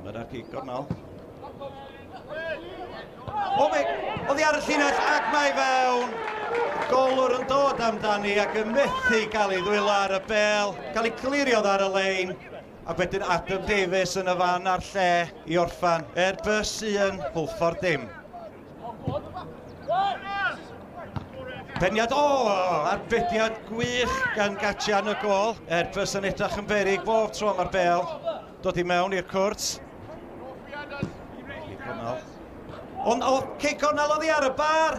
Palmer ar gic gornel. O, mae, oddi ar y llinell ac mae fewn. Golwr yn dod amdani ac yn methu gael ei ddwylo ar y bel, gael ei clirio ar y lein. A wedyn Adam Davies yn y fan a'r lle i orffan. Airbus 1, Hwlffordd dim. Peniad, o, arbediad gwych gan Gatia yn y gol. Airbus yn edrych yn beryg bob tro mae'r bel dod i mewn i'r cwrt. Ond o, cic cornel oddi ar y bar.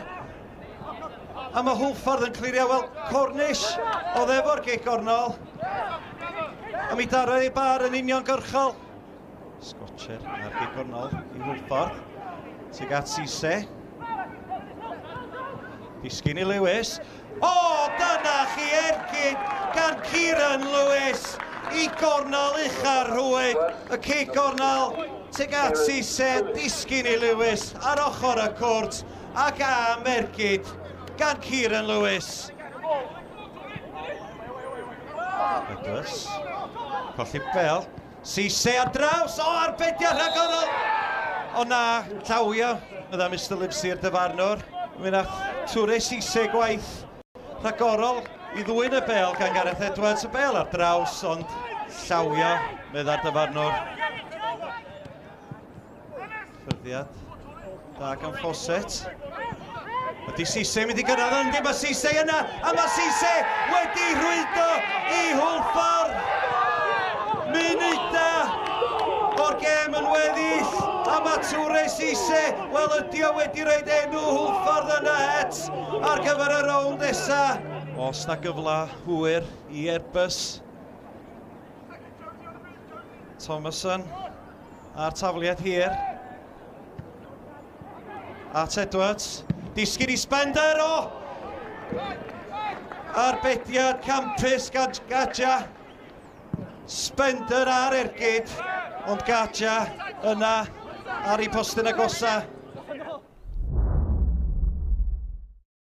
A mae Hwlffordd yn clirio, wel, Cornish oedd efo'r cic cornel. A mi darodd ei bar yn uniongyrchol. Scotcher ar gic cornel i Hwlffordd. Tuag at Cisse. Disgyn i Lewis. O, dyna chi ergyd gan Kieran Lewis i gornel ucha'r rhwyd. Y cic gornel tuag at Cisse, disgyn i Lewis ar ochr y cwrt ac am ergyd gan Kieran Lewis. Edwards, colli bel. Cisse ar draws, o, arbediad rhagorol! O na, llawio, fydda Mr Livesey'r dyfarnwr. Mi nath Toure Cisse gwaith rhagorol i ddwyn y bel gan Gareth Edwards. Y bel ar draws, ond llawio, medda'r dyfarnwr. Ffyrddiad da gan Fawcett. Ydy Cisse mynd i gyrraedd yndi, mae Cisse yna, a mae Cisse wedi rhwydo i Hwlffordd. Munuda o'r gêm yn weddill, a mae Toure Cisse, wel ydy o wedi rhoid enw Hwlffordd yna het ar gyfer y rownd nesa. Os na gyfle hwyr i Airbus. Thomason a'r tafliad hir. At Edwards. Disgyn i Spender, o! Arbediad campus gan Gaja. Spender ar ergyd, ond Gaja yna ar ei postyn agosa.